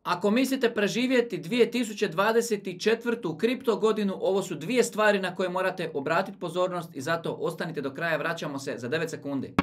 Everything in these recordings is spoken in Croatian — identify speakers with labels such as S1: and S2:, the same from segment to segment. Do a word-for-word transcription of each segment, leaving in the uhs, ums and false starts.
S1: Ako mislite preživjeti dvije tisuće dvadeset četvrtu kripto godinu, ovo su dvije stvari na koje morate obratiti pozornost i zato ostanite do kraja, vraćamo se za devet sekundi.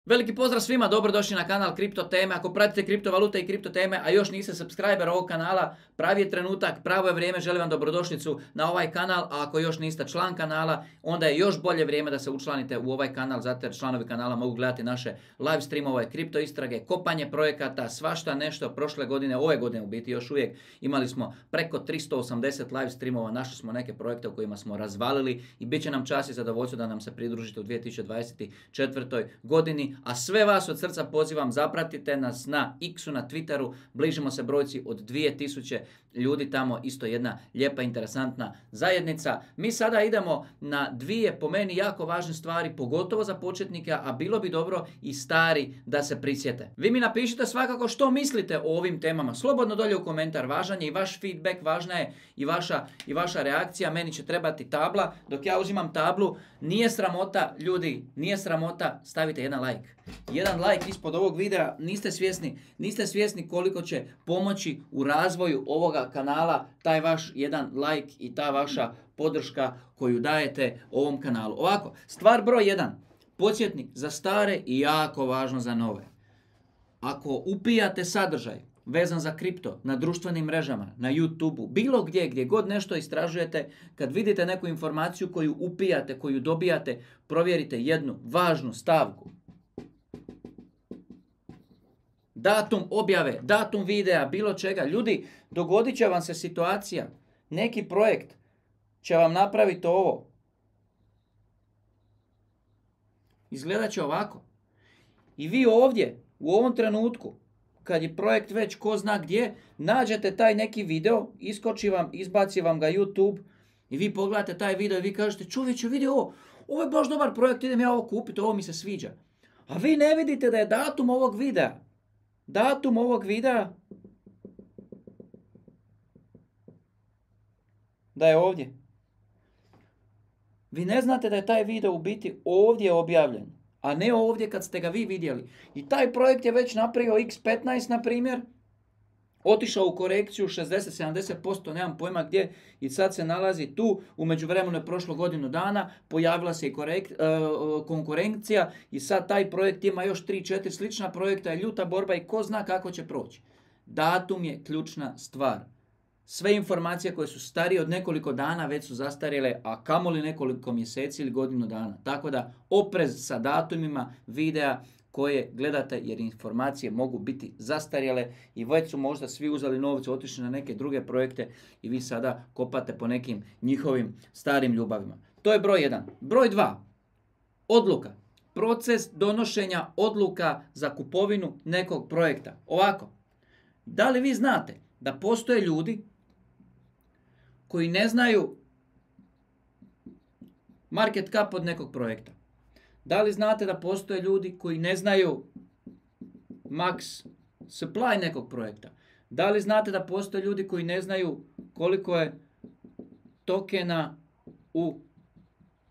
S1: Veliki pozdrav svima, dobrodošli na kanal Kripto teme. Ako pratite kriptovalute i kripto teme, a još niste subscriber ovog kanala, pravi je trenutak, pravo je vrijeme, želim vam dobrodošlicu na ovaj kanal, a ako još niste član kanala, onda je još bolje vrijeme da se učlanite u ovaj kanal, zato jer članovi kanala mogu gledati naše live streamove, kripto istrage, kopanje projekata, svašta nešto. Prošle godine, ove godine u biti još uvijek imali smo preko tristo osamdeset live streamova, našli smo neke projekte u kojima smo razvalili i bit će nam čast i zadovoljstvo da nam se pridružite u dvije tisuće dvadeset četvrtoj godini. A sve vas od srca pozivam, zapratite nas na X-u, na Twitteru, bližimo se brojci od dvije tisuće ljudi tamo, isto jedna lijepa, interesantna zajednica. Mi sada idemo na dvije, po meni, jako važne stvari, pogotovo za početnike, a bilo bi dobro i stari da se prisjete. Vi mi napišite svakako što mislite o ovim temama, slobodno dolje u komentar, važan je i vaš feedback, važna je i vaša, i vaša reakcija, meni će trebati tabla, dok ja uzimam tablu, nije sramota, ljudi, nije sramota, stavite jedan like. Jedan like ispod ovog videa, niste svjesni, niste svjesni koliko će pomoći u razvoju ovoga kanala, taj vaš jedan like i ta vaša podrška koju dajete ovom kanalu. Ovako, stvar broj jedan, podsjetnik za stare i jako važno za nove. Ako upijate sadržaj vezan za kripto na društvenim mrežama, na YouTubeu, bilo gdje, gdje god nešto istražujete, kad vidite neku informaciju koju upijate, koju dobijate, provjerite jednu važnu stavku. Datum objave, datum videa, bilo čega. Ljudi, dogodit će vam se situacija, neki projekt će vam napraviti ovo. Izgledat će ovako. I vi ovdje, u ovom trenutku, kad je projekt već ko zna gdje, nađete taj neki video, iskoči vam, izbaci vam ga YouTube i vi pogledate taj video i vi kažete, čovječe, vidi ovo, ovo je baš dobar projekt, idem ja ovo kupiti, ovo mi se sviđa. A vi ne vidite da je datum ovog videa. Datum ovog videa da je ovdje. Vi ne znate da je taj video u biti ovdje objavljen, a ne ovdje kad ste ga vi vidjeli. I taj projekt je već napravio iks petnaest, na primjer, otišao u korekciju šezdeset do sedamdeset posto, nemam pojma gdje, i sad se nalazi tu. U međuvremenu je prošlo godinu dana, pojavila se i korekt, uh, konkurencija i sad taj projekt ima još tri četiri slična projekta, je ljuta borba i ko zna kako će proći. Datum je ključna stvar. Sve informacije koje su starije od nekoliko dana već su zastarjele, a kamoli nekoliko mjeseci ili godinu dana. Tako da oprez sa datumima videa koje gledate, jer informacije mogu biti zastarjele i već su možda svi uzeli novce, otišli na neke druge projekte i vi sada kopate po nekim njihovim starim ljubavima. To je broj jedan. Broj dva. Odluka. Proces donošenja odluka za kupovinu nekog projekta. Ovako. Da li vi znate da postoje ljudi koji ne znaju market cap od nekog projekta? Da li znate da postoje ljudi koji ne znaju max supply nekog projekta? Da li znate da postoje ljudi koji ne znaju koliko je tokena u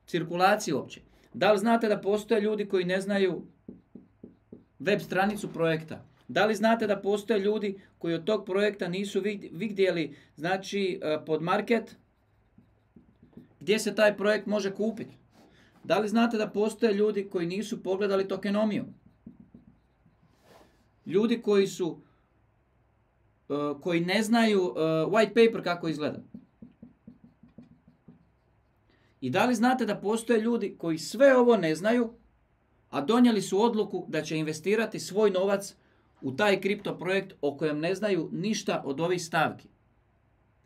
S1: cirkulaciji uopće? Da li znate da postoje ljudi koji ne znaju web stranicu projekta? Da li znate da postoje ljudi koji od tog projekta nisu vidjeli, znači, pod market gdje se taj projekt može kupiti? Da li znate da postoje ljudi koji nisu pogledali tokenomiju? Ljudi koji su, uh, koji ne znaju uh, white paper kako izgleda? I da li znate da postoje ljudi koji sve ovo ne znaju, a donijeli su odluku da će investirati svoj novac u taj kripto projekt o kojem ne znaju ništa od ovih stavki?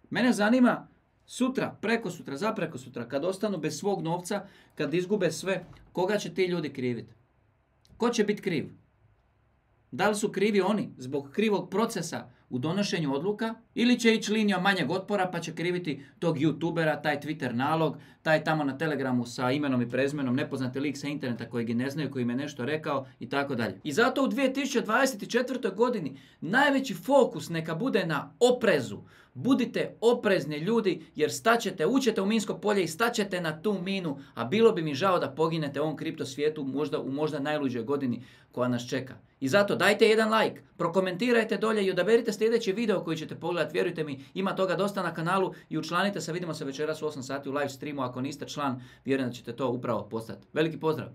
S1: Mene zanima sutra, preko sutra, za preko sutra, kad ostanu bez svog novca, kad izgube sve, koga će ti ljudi kriviti? Ko će biti kriv? Da li su krivi oni zbog krivog procesa u donošenju odluka ili će ići linijom manjeg otpora pa će kriviti tog youtubera, taj Twitter nalog, taj tamo na Telegramu sa imenom i prezmenom, nepoznati lik sa interneta koji ga ne znaju, koji im je nešto rekao i tako dalje. I zato u dvije tisuće dvadeset četvrtoj godini najveći fokus neka bude na oprezu. Budite oprezni ljudi jer staćete, ućete u minsko polje i staćete na tu minu, a bilo bi mi žao da poginete u ovom kripto svijetu možda, u možda najluđoj godini koja nas čeka. I zato dajte jedan like, prokomentirajte dolje i odaberite sljedeći video koji ćete pogledati. Vjerujte mi, ima toga dosta na kanalu i učlanite se. Vidimo se večeras u osam sati u live streamu. Ako niste član, vjerujem da ćete to upravo postati. Veliki pozdrav!